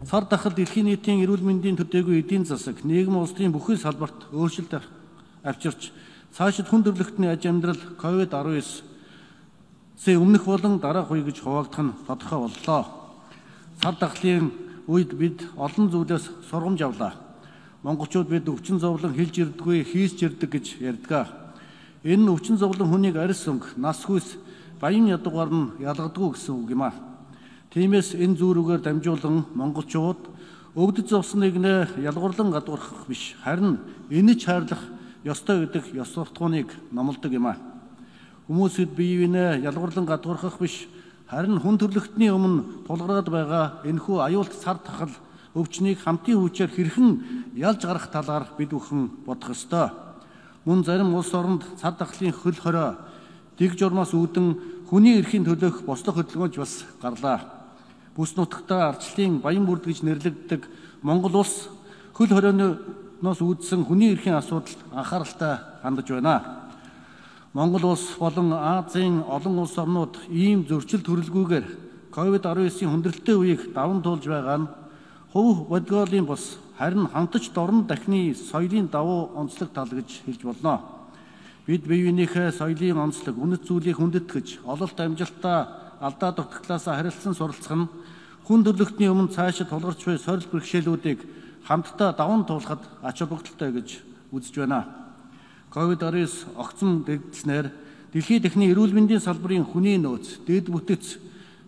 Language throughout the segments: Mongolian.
Сар дахад дэлхийн нийтийн эрүүл мэндийн төдийгүй эдийн засаг, нийгэм улсын бүхэл салбарт өөрчлөлт авчирч цаашид хүн төрөлхтний аж амьдрал COVID-19-ийн өмнөх болон дараах үе гэж хуваагдах нь тодорхой боллоо. Сар дахлын үед бид олон зүйлээс сургамж авлаа. Монголчууд бид өвчин зовлон хэлж ирдэггүй, хийсч ирдэг гэж ярьдаг. Энэ өвчин зовлон хүнийг арьс өнгө, нас хүйс, баян ядуугаар нь ялгадаггүй гэсэн үг юм аа. Тиймээс энэ зүүрүүгээр дамжуулан монголчууд өвдөж зовсныг нэ ялгуурлан гадуурхах биш, харин инэж хайрлах ёстой гэдэг ёс суртахууныг номлодог юм аа. Хүмүүсд бие биенээ ялгуурлан гадуурхах биш, харин хүн төрөлхтний өмнө тулгараад байгаа энэхүү аюулт сар тахал өвчнийг хамтын хүчээр хэрхэн ялж гарах талаар бид бүхэн бодох ёстой. Мөн зарим улс оронд сар тахлын хөл хорой дэг журмаас үүдэн хүний эрхийн төлөөх бослох хөдөлгөөнд бас гарлаа. Бүс нутагтаа ардчлалын баян бүрд гэж нэрлэгддэг Монгол улс хөл хоройноос үүдсэн хүний эрхийн асуудалд анхааралтай хандаж байна. Монгол улс болон Азийн олон улс орнууд ийм зөрчил төрөлгүйгээр COVID-19-ийн хүндрэлтэй үеийг даван туулж байгаа нь хувь бодгоолын бус харин хамтч дорн дахны соёлын давуу онцлог тал гэж хэлж болно. Бид бие биенийхээ соёлын онцлог, үнэт зүйлийг хүндэтгэж, ололт амжилтаа алдаа дутагдлаас харилцсан суралцах нь хүн төрөлхтний өмнө цаашид тулгарч буй сорил бэрхшээлүүдийг хамтдаа даван туулахад ач холбогдолтой гэж үзэж байна. COVID-19 огцом дэгдснээр дэлхийн техний эрүүл мэндийн салбарын хүний нөөц, дэд бүтэц,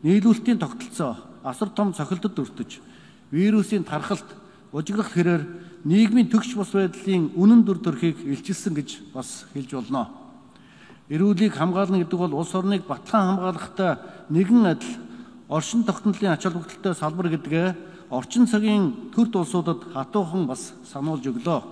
нийлүүлэлтийн тогтолцоо асар том цохилдод өртөж, вирусын тархалт, ужиграх хэрээр нийгмийн төгс бус байдлын үнэн дүр төрхийг илчилсэн гэж бас хэлж болно. Эрүүлийг хамгаална гэдэг бол улс орныг батлан хамгаалахтай нэгэн адил оршин тогтнолын ач холбогдолтой салбар гэдгээ орчин цагийн төрд улсуудад хатуухан бас сануулж өглөө.